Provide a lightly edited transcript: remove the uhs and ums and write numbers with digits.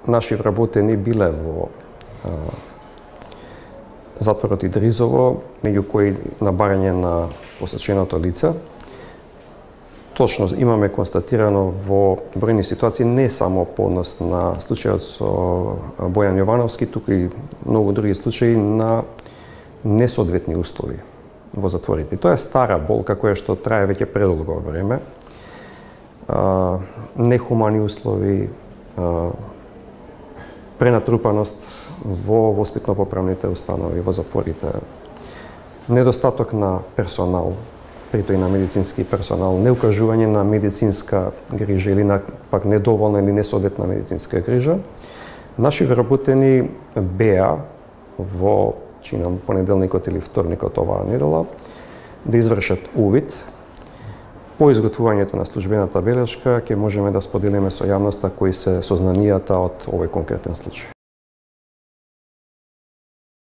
наши вработени биле во затворот Идризово, меѓу кои на барање на посеченото лице. Точно имаме констатирано во бројни ситуации не само по однос на случајот со Бојан Јовановски, туку и многу други случаи на несоодветни услови во затворите. Тоа е стара болка која што трае веќе предолго време. Нехумани услови, пренатрупаност во воспитно-поправните установи, во затворите, недостаток на персонал, притоа и на медицински персонал, неукажување на медицинска грижа или на пак недоволна или несоодветна медицинска грижа. Наши вработени беа во чинам понеделникот или вторникот оваа недела да извршат увид. По изготвувањето на службената белешка ќе можеме да споделиме со јавноста кои се сознанијата од овој конкретен случај.